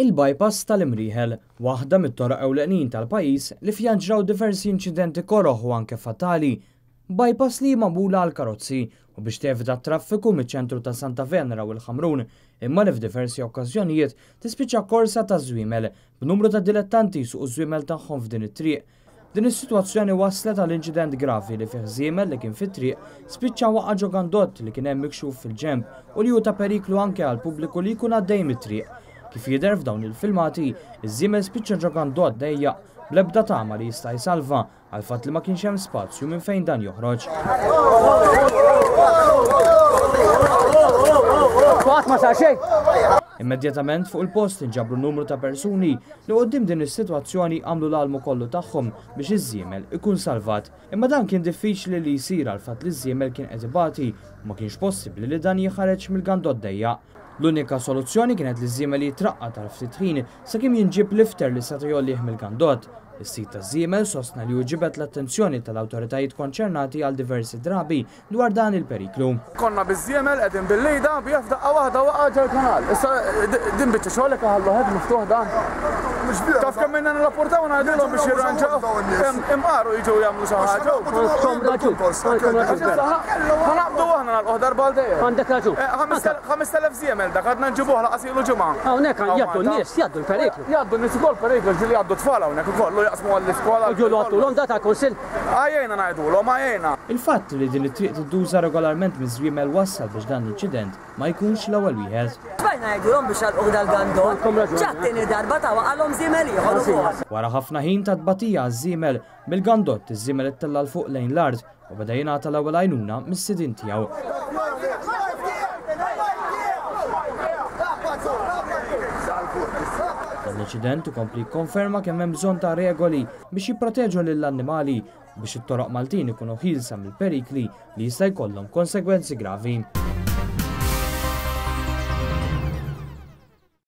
Il-bypass tal-Imrieħel, waħda mit-toroq ewlenin tal-pajjiż li fiha ġraw diversi inċidenti koroh u anke fatali. Bypass li hi magħmula għall-karozzi u biex tevita t-traffiku miċ-ċentru ta' Santa Venera u l-Ħamrun, imma li f'diversi okkażjonijiet tispiċċa korsa ta' żwiemel, b'numru ta' dilettanti jsuqu ż-żwiemel tagħhom f'din it-triq. Din is-sitwazzjoni wasslet għal inċident gravi li fih żiemel li kien fit-triq spiċċa waqa' ġo gandott li kien hemm mikxuf fil-ġenb u li hu ta' periklu anke għall-pubbliku li jkun għaddej mit-triq. Kif jidher f'dawn il-filmati, iż-żiemel spiċċa ġo gandott dejjaq bl-ebda tama li jista' jsalva għall-fatt li ma kienx hemm spazju minn fejn dan joħroġ. Qatt ma sar xejn. Immedjatament fuq il-post inġabru numru ta' persuni li quddiem din is-sitwazzjoni għamlu l-almu kollu tagħhom biex iż-żiemel ikun salvat. Imma dan kien diffiċli li jsir għall-fatt li ż-żiemel kien qed ibati u ma kienx possibbli li dan jinħareġ mill-gandott dejjaq. L-unika soluzzjoni kienet li ż-żiemel jitraqqad għal ftit ħin sakemm jinġieb lifter li seta' jgħollih mill-gandott. Is-sid taż-żiemel sostna li hu ġibed l-attenzjoni tal-awtoritajiet konċernati għal diversi drabi dwar dan il-periklu. Konna biż-żiemel qegħdin bil-lejda bih f'daqqa waħda waqa' ġol-kanal. Issa din biċċa xogħol hekk iħalluh hekk miftuħ dan. Taf kemm ilna nirrapportaw u ngħidulhom biex jirranġaw. Imqar u jiġu jagħmlu xi ħaġa. Ħa naqbdu aħna nagħlquh darba għal dejjem. Għandek raġun. 5000 żiemel dak għadna nġibuh laqas ilu ġimgħa. Hawnhekk jgħaddu n-nies, jgħaddu l-periklu. Jgħaddu n-nies ukoll periklu, ġieli jgħaddu tfal hawnhekk ukoll u jaqsmu għall-iskola. U ġielu għadtulhom da tal-kunsill? Għajjejna ngħidulhom, għajjejna. Il-fatt li din it-triq tintuża regolarment miż-żwiemel wassal biex dan l-inċident ma jkunx l-ewwel wieħed. Xbajna ngħidulhom biex jagħlquh dal-gandott. Ġa t-tieni darba ta' waqalhom żiemel ieħor ukoll. Wara ħafna ħin ta' tbatija għaż-żiemel, mill-gandott iż-żiemel ittella' 'l fuq lejn l-art u beda jingħata l-ewwel għajnuna mis-sidien tiegħu. Dan l-inċident ikompli jikkonferma kemm hemm bżonn ta' regoli biex jipproteġu lill-annimali u biex it-toroq Maltin ikunu ħielsa mill-perikli li jista' jkollhom konsegwenzi gravi.